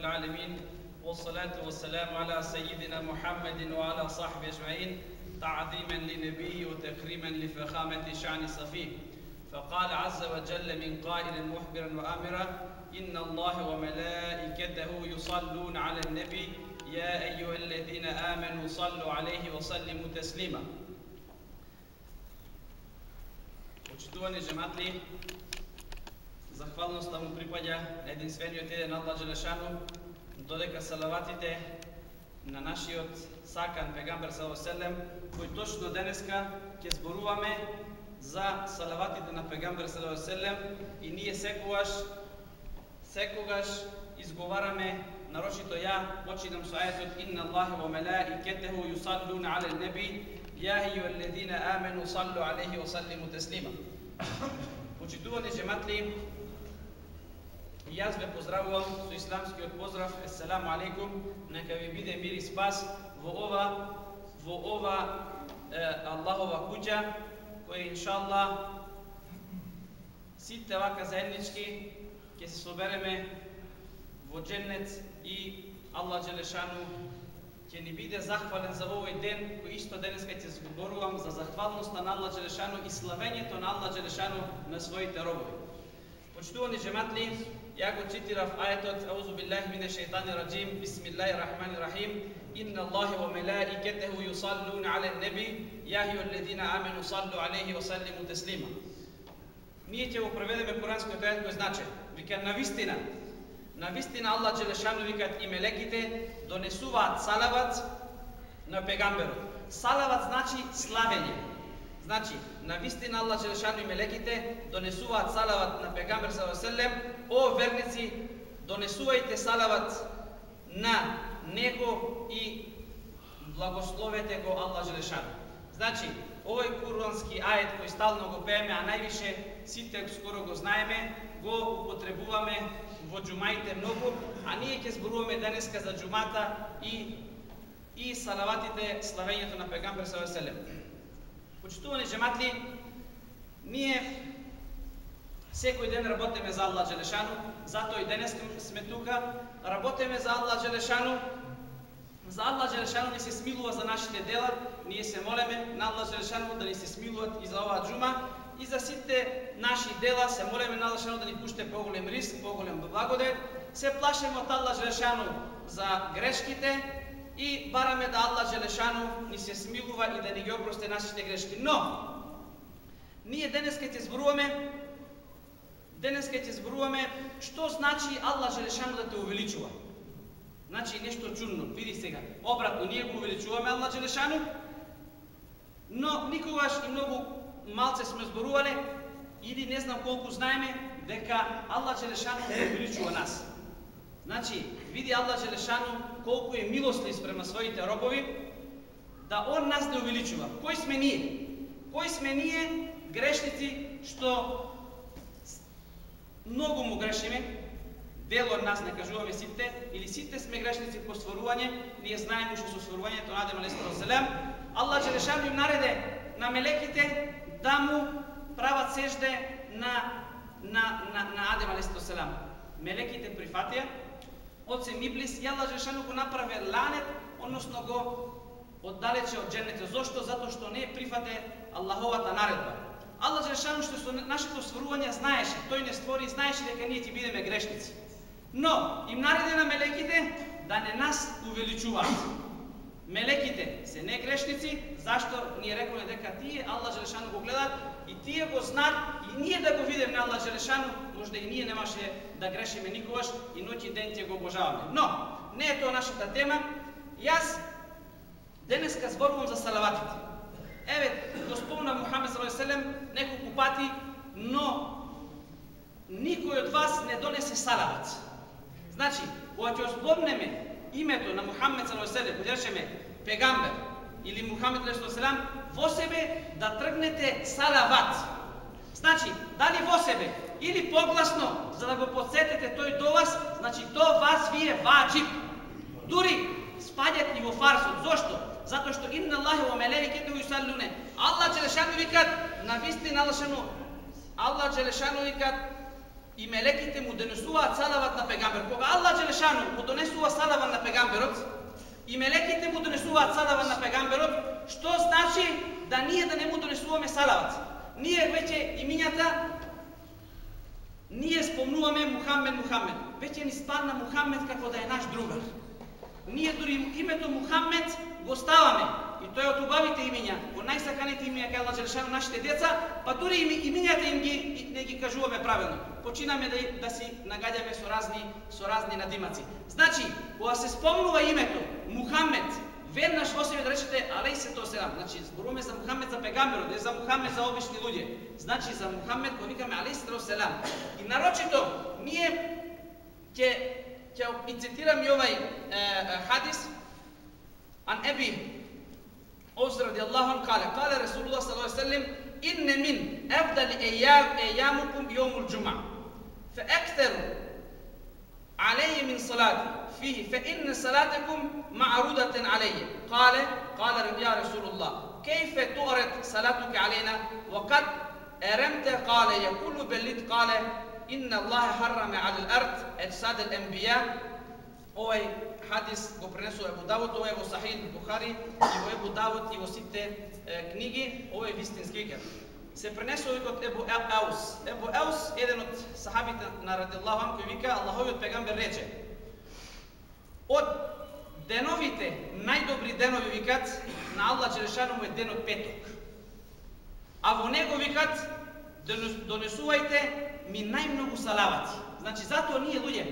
العالمين والصلاة والسلام على سيدنا محمد وعلى صحبه أجمعين تعظيما لنبيه وتكريما لفخامة شأن صفيه. فقال عز وجل من قائل مخبرا وآمرا إن الله وملائكته يصلون على النبي يا أيها الذين آمنوا صلوا عليه وسلموا تسليما. Почитувани джематли, захвалноста му припаѓа на единствениот еден Аллах Джелешану, додека салаватите на нашиот сакан пегамбер саллаллаху алейхи ва селем, кој точно денеска ќе зборуваме за салаватите на пегамбер саллаллаху алейхи ва селем, и ние секогаш изговараме, нарочито ја починам со ајетот инна Аллаха ва мелаикетеху юсаллуна але неби ја ејюхеллезина амену саллу алейхи ва саллиму теслима. Почитувани джематли, јас ве поздравувам со исламскиот поздрав есселаму алейкум, нека ви биде мир и спас во ова Аллахова куќа, која иншаллах сите вака заеднички ќе се собереме во дженнет и Аллах Джелешану ќе ни биде захвален за овој ден, кој исто денеска ќе зборувам за захвалноста на Аллах Джелешану и славењето на Аллах Джелешану на своите робови. Почитувани джематли, ја го цитирав ајетот аузу биллахи минеш шејтани раджим бисмиллахи рахмани рахим инна Аллаха ва мелаикетеху юсаллуна але неби ја ејюхеллезина амену саллу алейхи ва саллиму теслима. Ние ќе го преведеме куранскиот ајет кој значи, вика навистина Аллах Джелешану викат и мелеките донесуваат салават на пегамберот. Салават значи славење. Значи, навистина Аллах Джелешану и мелеките донесуваат салават на пегамбер саллаллаху алейхи ва селем. О верници, донесувајте салават на него и благословете го Аллах Джелешану. Значи, овој курански ајет кој стално го пееме, а највише сите скоро го знаеме, го употребуваме во џумаите многу, а ние ќе зборуваме денеска за џумата и салаватите, славењето на пегамбер саллаллаху алейхи ва селем. Почитувани джематли, ние секој ден работиме за Аллах Джелешану, затоа и денеска сме тука, работиме за Аллах Джелешану. За Аллах Джелешану ни се смилува за нашите дела, ние се молеме на Аллах Джелешану да ни се смилуват и за оваа џума, и за сите наши дела се молеме на Аллах Джелешану да ни пуште поголем риск, поголем благодет, се плашеме од Аллах Джелешану за грешките и бараме да Аллах Джелешану ни се смилува и да ни ги опрости нашите грешки. Но ние денеска ќе зборуваме што значи Аллах Джелешану да те увеличува. Значи нешто чудно, види сега. Обратно, ние го увеличуваме Аллах Джелешану, но никогаш и многу малце сме зборувале или не знам колку знаеме дека Аллах Джелешану увеличува нас. Значи, види Аллах Джелешану колку е милостлив спрема своите робови, да Он нас не увеличува. Кој сме ние? Кој сме ние, грешници, што многу му грешиме, дел од нас, не кажуваме сите, или сите сме грешници по стварување, ние знаеме што со стварувањето на Адем алейхи селем, Аллах Джелешану им нареде на мелеките да му прават сежде на Адем алейхи селем. Мелеките прифатија, Оцем Иблис, и Аллах Джелешану го направи ланет, односно го оддалече од дженнетот. Зошто? Затоа што не прифате Аллаховата наредба. Аллах Джелешану што со нашето стварување знаеше, тој не створи, знаеше дека ние ќе бидеме грешници. Но им нареди на мелеките да не нас увеличуваат. Мелеките се не грешници, зашто ние рековме дека тие Аллах Джелешану го гледаат и тие го знаат, и ние да го видиме на Аллах Джелешану, можда и ние немаше да грешиме никогаш и ноќ и ден ќе го обожаваме. Но не е тоа нашата тема. Јас денеска зборувам за салаватите. Еве, го спомна Мухамед саллаллаху алейхи ва селем неколку пати, но никој од вас не донесе салават. Значи, кога ќе спомнеме името на Мухамед саллаллаху алейхи ва селем, кога речеме пегамбер или Мухамед саллаллаху алейхи ва селем, во себе да тргнете салават. Значи, дали во себе или погласно, за да го подсетите тој до вас, значи тоа вас ви е ваџиб. Дури спаѓат и во фарзот. Зошто? Затоа што инна Аллаха ва мелаикетеху юсаллуна. Аллах Джелешану викат, навистина Аллах Джелешану викат и мелеките му донесуваат салават на пегамбер. Кога Аллах Джелешану му донесува салават на пегамберот и мелеките му донесуваат салават на пегамберот, што значи да ние да не му донесуваме салават? Ние веќе имињата ние спомнуваме Мухамед. Веќе ни спадна Мухамед како да е наш другар. Ние дури името Мухамед го ставаме. И тоа е од убавите имиња, од најсаканите имиња кај Аллах Джелешану нашите деца, па дури имињата им не ги кажуваме правилно. Починаме да си нагаѓаме со разни надимаци. Значи, кога се спомнува името Мухамед, веднаш во себе да речете алейхиссалату васелам. Значи, зборуваме за Мухамед за пегамберот, не за Мухамед за обични луѓе. Значи, за Мухамед кога викаме алейхиссалату васелам. И нарочито ние ќе и цитирам и овај хадис ан Еби أوس رضي الله عنه قال رسول الله صلى الله عليه وسلم إن من أفضل أيامكم يوم الجمعة فأكثروا علي من صلاتي فيه فإن صلاتكم معروضة علي قال يا رسول الله كيف تعرض صلاتك علينا وقد أرمت قال يقول بلد قال إن الله حرم على الأرض أجساد الأنبياء. Овај хадис го пренесува Ебу Давуд, ова е во Сахих Бухари, и во Ебу Давуд и во сите книги, ова е вистински викат. Се пренесува од Ебу Еус. Ебу Еус, еден од сахабите на радијаллаху анху, кој вика, Аллаховиот пегамбер рече: од деновите, најдобри денови викат на Аллах Джелешану му е денот петок. А во него викат донесувајте ми најмногу салавати. Значи затоа ние луѓе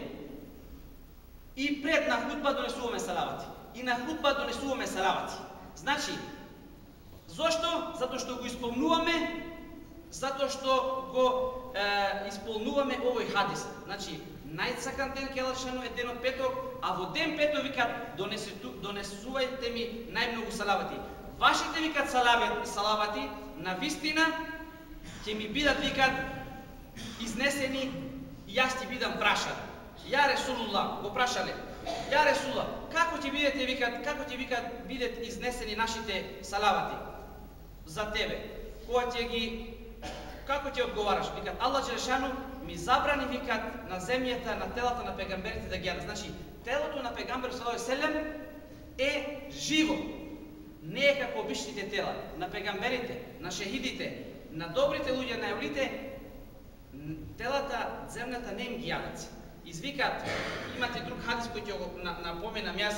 и пред на хутба донесуваме салавати. И на хутба донесуваме салавати. Значи, зошто? Затоа што го исполнуваме, затоа што го исполнуваме овој хадис. Значи, најсакан ден кај Аллах Джелешану е денот петок, а во ден петок викат донесувајте ми најмногу салавати. Вашите викат салавати на вистина ќе ми бидат викат изнесени и јас ќе бидам прашан. Ја Ресулуллах, го прашале. Ја Ресулуллах, како ќе бидат изнесени нашите салавати за тебе? Како ќе одговараш? Викат Аллах Джелешану ми забрани викат на земјата, на телата на пегамберите да ги јадат. Значи, телото на пегамбер саллаллаху алейхи ва селем е живо. Не е како обичните тела на пегамберите, на шехидите, на добрите луѓе, на евлите. Телата земната не им ги јадат. Извикат, имате друг хадис кој ќе го напоменам јас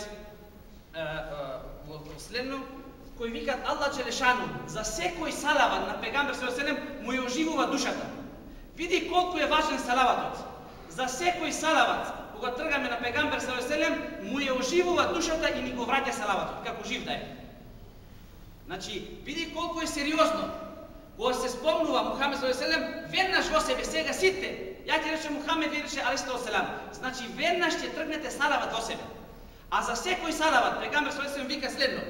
во следно, кој викат Аллах Джелешану за секој салават на пегамбер саллаллаху алейхи ва селем му ја оживува душата. Види колку е важен салаватот. За секој салават, кога тргаме на пегамбер саллаллаху алейхи ва селем, му ја оживува душата и ни го враќа салаватот, како жив да е. Значи, види колку е сериозно. Кога се спомнува Мухамед саллаллаху алейхи ва селем, веднаш во себе сега сите. Ја ќе рече Мухамед, ви рече алейхиссалату васелам. Значи, веднаш ќе тргнете салават во себе. А за секој салават, пегамбер саллаллаху алейхи ва селем вика следно.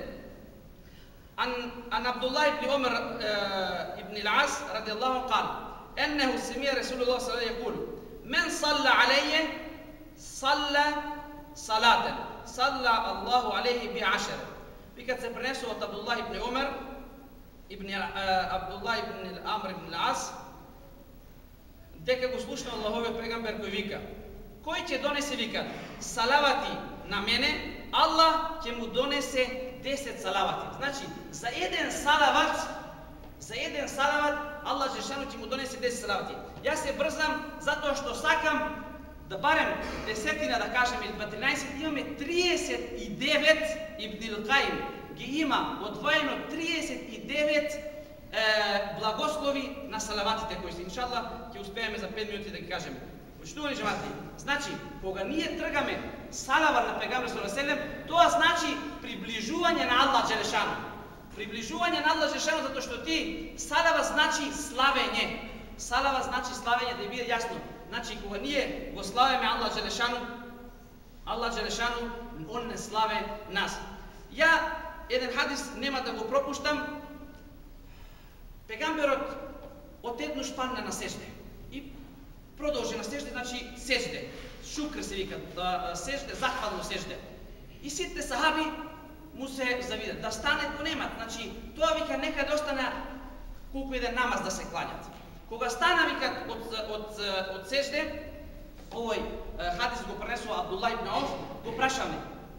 Ан Абдуллах ибн Умар ибн ал-Ас радијаллаху анху قال أنه سمع رسول الله صلى الله عليه وسلم يقول من صلى علي صلى صلاة صلى الله عليه بعشر. Викат се пренесува од Абдуллах ибн Умар Абдуллах ибн Амр ибн ал-Ас, дека го слушна Аллаховиот пегамбер кој вика: кој ќе донесе вика салавати на мене, Аллах ќе му донесе 10 салавати. Значи, за еден салават Аллах Джелешану ќе му донесе 10 салавати. Јас се брзам затоа што сакам да барем десетина да кажеме или 13, имаме 39 Ибн ал-Каим ги има одвоено 39 благослови на салаватите кои се иншаллах ќе успееме за 5 минути да ги кажеме. Почитувани џемати, значи кога ние тргаме салават на пегамбер саллаллаху алейхи ва селем, тоа значи приближување на Аллах Джелешану. Приближување на Аллах Джелешану затоа што ти салава значи славење. Салава значи славење, да биде јасно. Значи кога ние го славиме Аллах Джелешану, он не славе нас. Ја еден хадис нема да го пропуштам. Пегамберот отеднаш падна на сежде и продолжи на сежде, значи сежде. Шукр се вика, сежде, захвално сежде. И сите сахаби му се завидат, да стане го немат. Значи, тоа вика нека да остане колку еден намаз да се клањат. Кога стана викат од сежде, овој хадис го пренесува Абдулла ибн Ауф, го прашаме: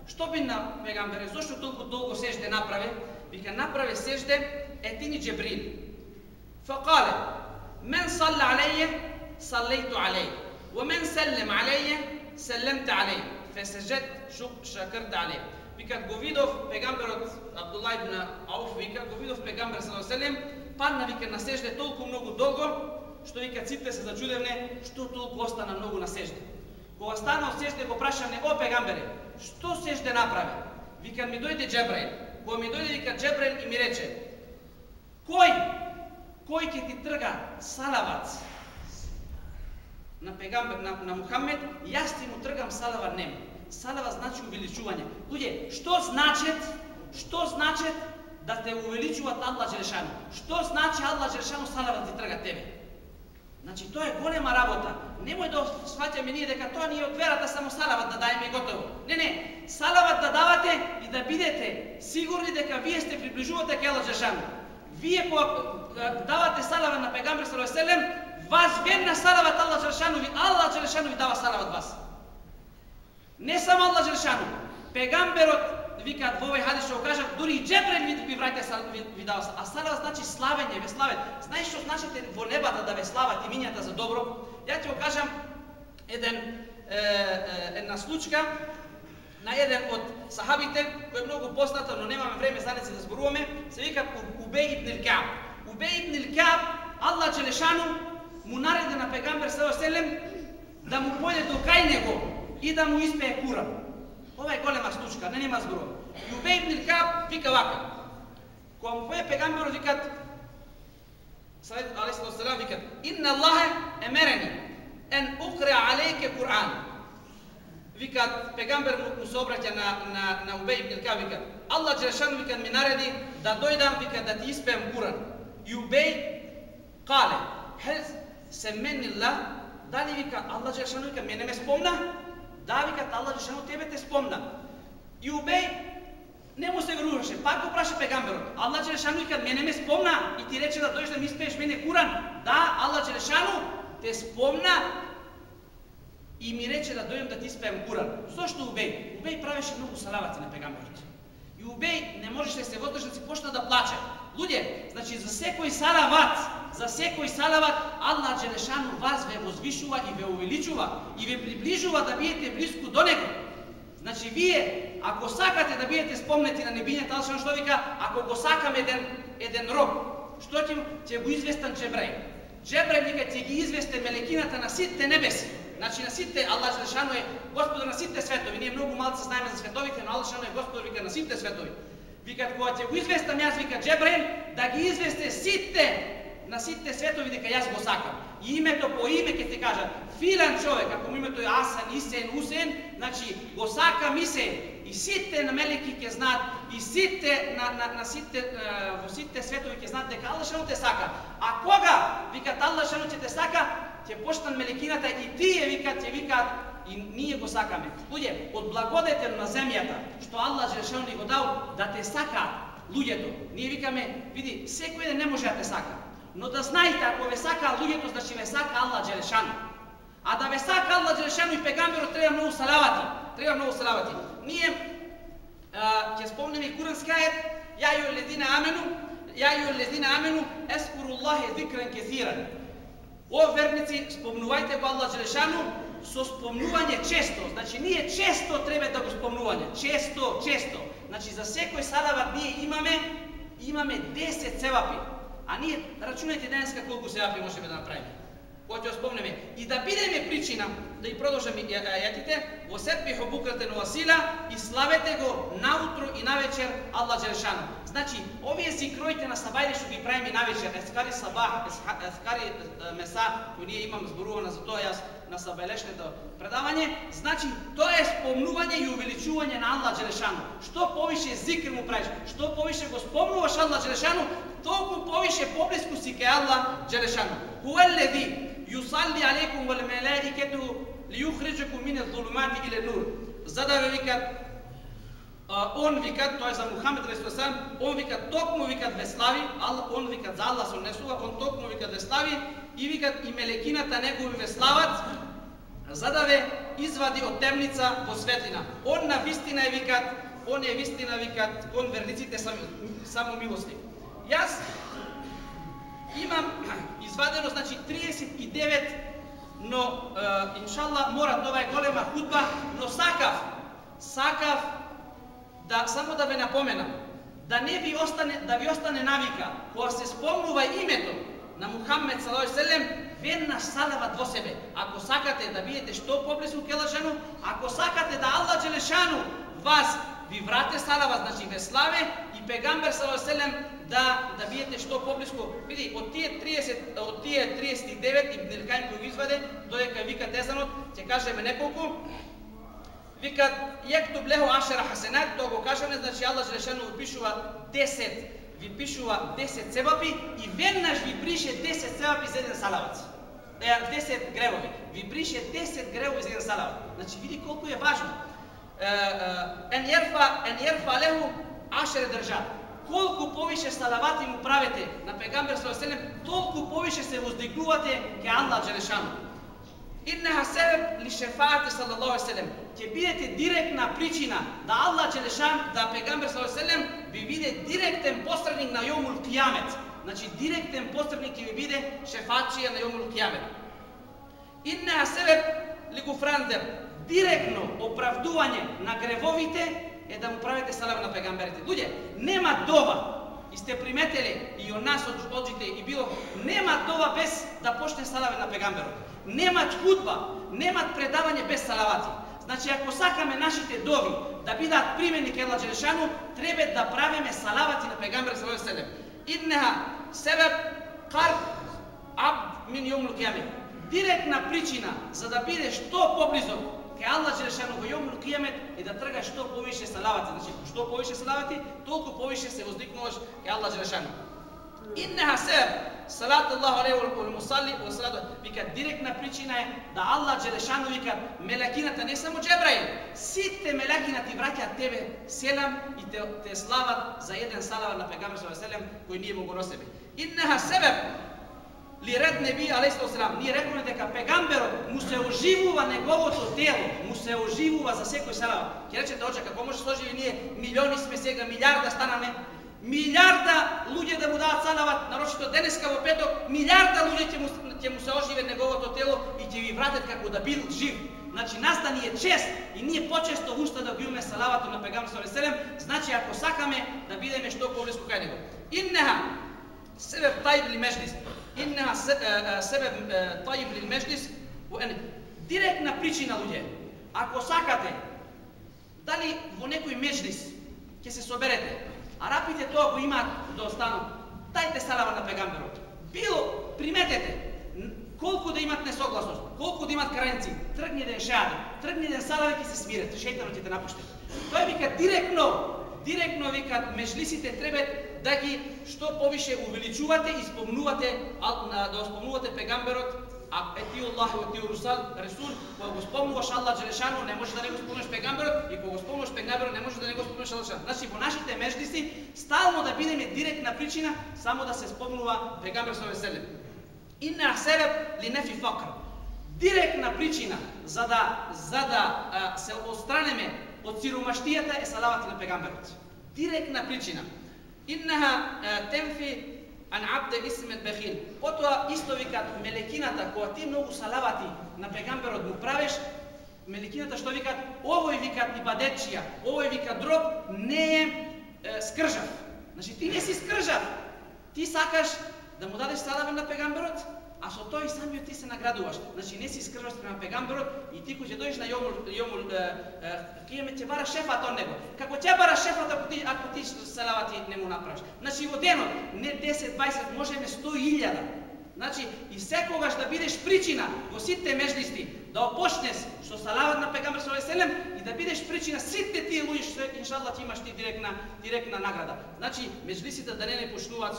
што би на пегамбере, зошто толку долго сежде направи? Вика: направи сежде етини Џебрил. Факале: мен салла алейе, саллейту алейе, wa men sellem алейе, селемте алейе, фесежет шакрте алейе. Вика: го видов пегамберот Абдулла ибн Ауф, вика, го видов пегамбер саллаллаху алейхи ва селем, падна вика на сежде толку многу долго, што вика сите се зачудевне што толку остана многу на сежде. Кога стана од сежде, го прашавне: о пегамбере, што сежде направи? Вика: ми дојде Џебраил. Кога ми дојде вика Џебраил и ми рече: кој ќе ти трга салават на пегамбер на Мухамед, јас ти му тргам салават нему. Салават значи увеличување. Луѓе, што значи да те увеличуваат Аллах Џелешану? Што значи Аллах Џелешану салават ти трга тебе? Значи тоа е голема работа. Немој да сваќаме ние дека тоа не е од верата само салават да даеме и готово. Не, салават да давате и да бидете сигурни дека вие сте приближувате кај Аллах Џелешану. Вие кога давате салават на пегамбер саллаллаху алейхи ва селем, вас верна салават Аллах Џелешану ви дава салават вас. Не само Аллах Џелешану, пегамберот викаат во овој хадис што го кажат, дури и Џебраил ви враќа ви дава. А салават значи славење, ве слават. Знаеш што значите во небата да ве слават и минјата за добро? Ја ти го кажам една случка на еден од сахабите кој е многу позната, но немаме време за да зборуваме, се вика Убеј ибн Кааб. Убеј ибн Кааб, Аллах Џелешану му нареди на пегамбер саллаллаху алейхи ва селем да му појде до кај него и да му испее Куран. Ова е голема случка, нема зборува. И Убеј ибн Кааб вика вака: кога му појде пегамберот, викат алейхи салам, викат: инна Аллахе емерени ен укре алейке Куран. Викат пегамбер му се обраќа на Убеј ибн Кааб, викат: Аллах Џелешану викат ми нареди да дојдам, викат да ти испеем Куран. И Убеј кале: хел семенилlah, дали вика Аллах Џелешану вика мене ме спомна? Да, викат Аллах Џелешану тебе те спомна. И Убеј не му се веруваше, пак го праша пегамберот: Аллах Џелешану вика мене ме спомна и ти рече да дојдеш да ми испееш мене Куран? Да, Аллах Џелешану те спомна и ми рече да дојдем да ти испеем Куран. Зошто Убеј? Убеј правеше многу салавати на пегамберот. И Убеј не можеше да се водржи, си почна да плаче. Луѓе, значи за секој салават Аллах Џелешану вас ве возвишува и ве увеличува и ве приближува да бидете близко до него. Значи вие ако сакате да бидете спомнети на небињата, Аллах што вика: ако го сакам еден роб, што ќе го известам Џебраил. Џебраил вика ќе ги известе мелекината на сите небеси. Значи на сите, Аллах Џелешану е Господар на сите светови. Ние многу малку знаеме за световите, но Аллах Џелешану е Господар вика на сите светови. Викат кога ќе го известам јас, вика Џебраил, да ги известе на сите светови дека јас го сакам. И името по име ќе ти кажа: филан човек, ако му името е Асан, Исен, Усен, значи го сакам Исен. И сите на мелеки ќе знаат, и сите во сите светови ќе знаат дека Аллах Џелешану те сака. А кога викат Аллах Џелешану ќе те сака, ќе почнат мелекината и тие викат и ние го сакаме. Луѓе, од благодетен на земјата што Аллах Џелешану ни го дал да те сака луѓето. Ние викаме: види, секој ден не може да те сака. Но да знаете, ако ве сака луѓето, значи ве сака Аллах Џелешану. А да ве сака Аллах Џелешану и пегамберот треба многу салавати. Ние ќе спомнеме и курански ајет: ја ајуҳеллезина амену ескуруллахе зикран кесиран. О верници, спомнувајте го Аллах Џелешану со спомнување често. Значи ние често треба да го спомнување. Често. Значи за секој салават ние имаме 10 севапи. А ние рачунајте денеска колку севапи можеме да направиме. Кога ќе спомнеме и да бидеме причина да и продолжиме ајатите: во сепбиху букратен ва асила, и славете го наутро и навечер Аллах Џелешану. Значи овие зикроите на сабајле што ги правиме навечер, ескари сабах, ескари меса, кои ние имам зборувано за тоа јас на сабајлешното предавање, значи тоа е спомнување и увеличување на Аллах Џелешану. Што повише зикр му правиш, што повише го спомнуваш Аллах Џелешану, толку повише поблиску си кај Аллах Џелешану. Хуеллези юсалли алейкум вал малаикату лиюхриджакум мин адh-dhulumati ila an-nur. За да ве викат, он викат, тоа е за Мухамед алейхиссалам, он викат токму викат ве слави, он викат за Аллах се однесува, он токму викат ве слави и викат и мелекината негови ве слават, за да ве извади од темница во светлина. Он на вистина е викат, он е вистина викат кон верниците само милости. Јас имам извадено значи 39, но иншалла морат, ова е голема худба, но сакав да само да ве напоменам, да не ви остане навика кога се спомнува името на Мухаммед саллаллаху алейхи ве селем, веднаш салават во себе. Ако сакате да бидете што поблизу ке Аллах, ако сакате да Аллах Джелешану вас ви врате салават, значи ве славе и пегамбер саллаллаху алейхи ве селем да бидете што поблиску. Види, од тие 39 Ибн Илкаим кој го изваде, додека викат езанот, ќе кажеме неколку. Викат јектуб леху ашера хасенат, тоа го кажеме, значи Аллах Джелешану ви пишува 10 севапи и веднаш ви брише 10 севапи за еден салават. 10 гревови. Ви брише 10 гревови за еден салават. Значи види колку е важно. Ен јерфа леху ашер држат. Колку повише салавати му правите на пегамбер саллаллаху алейхи ве селем, толку повише се воздигнувате ке Аллах Джелешану. Иннеха себеб ли шефаати саллаллаху алейхи ве селем. Ќе бидете директна причина да Аллах Джелешан, да пегамбер саллаллаху алейхи ве селем ви биде директен посредник на јомул кијамет. Значи директен посредник ќе ви биде шефаатчија на јомул кијамет. Иннеха себеб ли гуфрандер. Директно оправдување на гревовите е да му правите салава на пегамберите. Луѓе, нема дова, и сте приметели и од нас одите и било, нема дова без да почне салава на пегамберот. Немат худба, немат предавање без салавати. Значи, ако сакаме нашите дови да бидат примени ке Аллах Джелешану, треба да правиме салавати на пегамбер саллаллаху алейхи ве селем. Иннеха себеб карб абд мин јомул кијамет. Директна причина за да бидеш што поблизо ке Аллах Джелешану во јомул кијамет е да тргаш што повише салавати. Значи, што повише салавати, толку повише се воздигнуваш ке Аллах Джелешану. Иннеха себеб салат Аллаху алейхи вал мусалли ва салату, вика директна причина е да Аллах Джелешану вика мелекината, не само Џебраил, сите мелекина ти враќаат тебе селам и те слават за еден салават на пегамбер саллаллаху алейхи ве селем кој ние му го носиме. Иннеха себеб ли ред неби алейхи селам, ние рекоме дека пегамберот му се оживува неговото тело, му се оживува за секој салават. Ќе речете, оче, како може се оживи, ние милиони сме сега, милиарда станаме, милиарда луѓе да му дадат салават, нарочито денеска во петок, милиарда луѓе ќе му се оживе неговото тело и ќе ви вратат како да бил жив. Значи, нас да ни е чест и ние почесто уста да гиуме салаватот на пегамбер саллаллаху алейхи ве селем, значи ако сакаме да бидеме што поблиску кај него. Иннеха себеб тајиб ли меџлис. Иннеха себеб тајиб ли меџлис. Директна причина, луѓе. Ако сакате, дали во некој меџлис ќе се соберете, арапите тоа го имаат да останат, дајте салава на пегамберот. Било, приметете, колку да имат несогласност, колку да имат каренци, тргни ден шеаде, тргни ден салава ќе се смират, шејтанот ќе те напушти. Тој вика директно викат меџлисите треба да ги што повише увеличувате и да спомнувате пегамберот. А ети Аллах и ети Расул, кога го спомнуваш Аллах Джелешану, не може да не го спомнуваш пегамберот, и кога го спомнуваш пегамберот, не може да не го спомнуваш Аллах Джелешану. Значи, во нашите меџлиси стално да бидеме директна причина само да се спомнува пегамбер саллаллаху алейхи ве селем. Инна себеб ли нефи факр. Директна причина за да се отстранеме од сиромаштијата е салавати на пегамберот. Директна причина. Иннаха темфи ан абде исмет бехил. Потоа исто викат мелекината, кога ти многу салавати на пегамберот му правиш, мелекината што викат, овој викат ибадетчија, овој викат дроб, не е скржав. Значи ти не си скржав. Ти сакаш да му дадеш салава на пегамберот, а со тој самиот ти се наградуваш. Значи не си скржаш према пегамберот и ти кој ќе дојдеш на јомул кијамет ќе бараш шефат од него. Како ќе бараш шефат ако ти салавати не му направиш. Значи во денот не 10, 20, можеме 100.000. Значи и секогаш да бидеш причина во сите меџлиси да опочнеш со салават на пегамбер саллаллаху алейхи ве селем и да бидеш причина сите тие луѓе што иншаллах ти имаш ти директна награда. Значи меџлисите да не почнуваат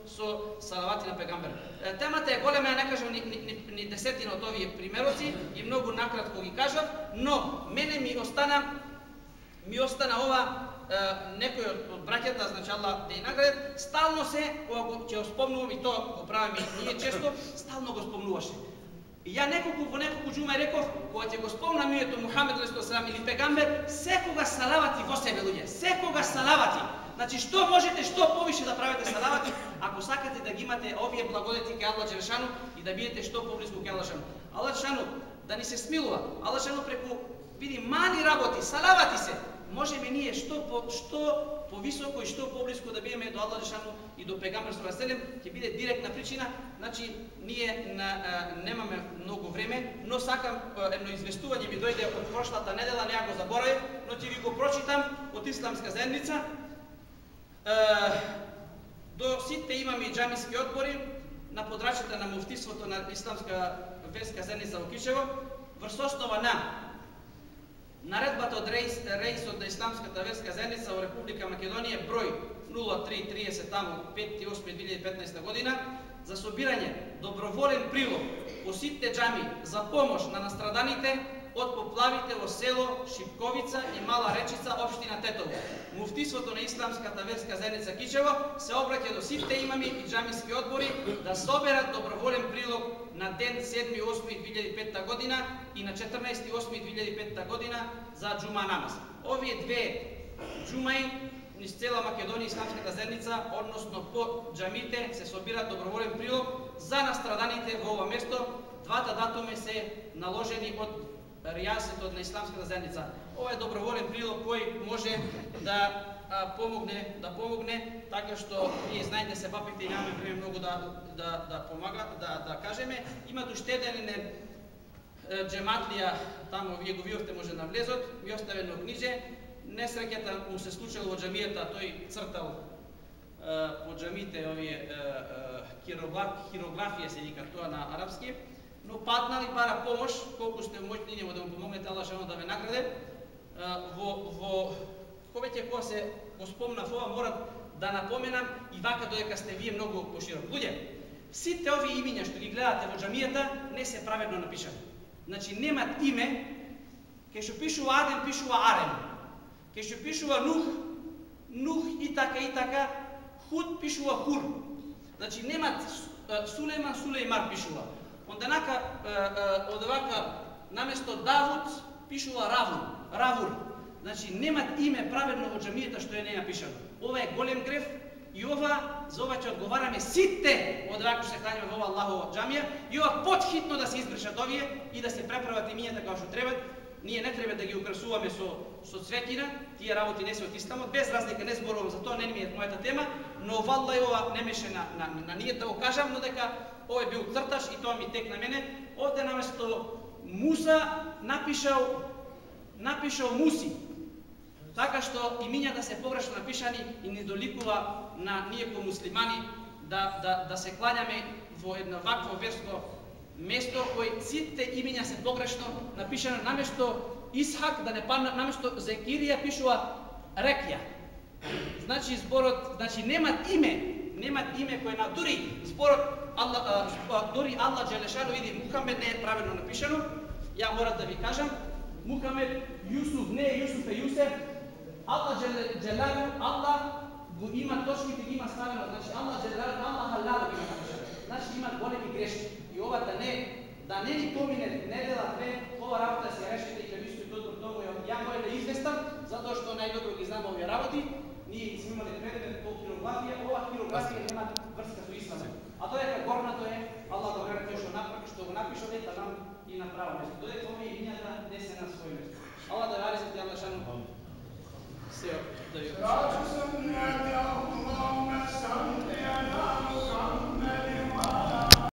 со салавати на пегамбер. Темата е голема, ја не кажам ни десетина од овие примероци и многу накратко ги кажав, но мене ми остана ова некој од браќата, значи Аллах да ја награди, стално се кога го ќе спомнувам и тоа го правиме ние често, стално го спомнуваше. И ја во неколку џума реков, кога ќе го спомнам името Мухамед ﷺ или пегамбер, секогаш салавати во себе луѓе, секогаш салавати. Значи што можете што повише да правите салавати, ако сакате да ги имате овие благодети кај Аллах Джелешану и да бидете што поблиску кај Аллах Джелешану. Аллах Джелешану да ни се смилува. Аллах Джелешану преку види мали работи, салавати се, можеме ние што повисоко и што поблиску да бидеме до Аллах Джелешану и до пегамбер ﷺ, ќе биде директна причина. Значи ние немаме многу време, но сакам едно известување ми дојде од прошлата недела, не ја го заборавив, но ќе ви го прочитам од Исламска заедница. До сите имаме џамиски одбори на подрачјата на муфтиството на Исламска верска заедница во Кичево, врз основа на наредбата од реисот на Исламската верска заедница во Република Македонија број 0330 таму 5.8.2015 година за собирање доброволен прилог по сите џами за помош на настраданите од поплавите во село Шипковица и Мала Речица, општина Тетово. Муфтиството на Исламската верска заедница Кичево се обраќа до сите имами и џамиски одбори да соберат доброволен прилог на ден 7.8.2005 година и на 14.8.2005 година за џума намаз. Овие две џумаи низ цела Македонија Исламската заедница, односно по џамите, се собираат доброволен прилог за настраданите во ова место. Двата датуми се наложени од ријасетот на Исламската заедница. Ова е доброволен прилог кој може да помогне, така што вие знаете се папите и нямаме време многу да помага, да кажеме. Има уште еден џематлија таму, вие го видовте може на влезот, ми остави едно книже. Несреќата му се случило во џамијата, тој цртал по џамите овие хирографија се вика тоа на арапски, но паднал и бара помош, колку сте моќни нему да му помогнете, Аллах Джелешану да ве награде. Повеќе кога се го спомнав ова, морам да напоменам и вака додека сте вие многу поширок. Луѓе, сите овие имиња што ги гледате во џамијата не се праведно напишани. Значи немат име, кај што пишува Адем, пишува Арем. Кај што пишува Нух и така, Худ пишува Хур. Значи немат Сулейман, Сулеймар пишува. Онденака, одевака, наместо Давуд, пишува Равур. Значи, немат име праведно во џамијата што е не напишано. Ова е голем греф и за ова ќе одговараме сите одевака што се кланјаме во ова Аллахова џамија и ова потхитно да се избришат овие и да се преправат имињата како што требат. Ние не треба да ги украсуваме со цветина, тие работи не се од Исламот, без разлика, не зборувам за тоа, не ми е мојата тема, но валла ова не меше на ние да го кажам, но дека овој бил црташ и тоа ми тек на мене. Овде наместо Муса напишал Муси. Така што имињата се погрешно напишани и не доликува на ние ко муслимани да се клањаме во едно вакво верско место кој сите имиња се погрешно напишано, наместо Исхак да не падна, наместо Зекирија пишува Рекја. Значи зборот, немат име кој на дури зборот дури Аллах Джелешану види Мухамед не е правилно напишано. Ја морам да ви кажам, Мухамед Јусуф не е Јусуф е Јусеф. Аллах Джелешану, Аллах го има точките, ги има ставено. Значи Аллах Джелешану, Аллах халал ги има напишано. Значи има големи грешки. И ова да не ни помине недела две, ова работа се решите и ќе мислите тоа тоа. Ја морам да известам, затоа што најдобро ги знам овие работи. Ние сме имали предмет по хирографија, ова хирографија нема врска со Исламот. А тоа дека горното е Аллах да гарантира што го напишал ета нам и на право место. Додека овие имињата не се на свој место. Аллах да гарантира Аллах шану се да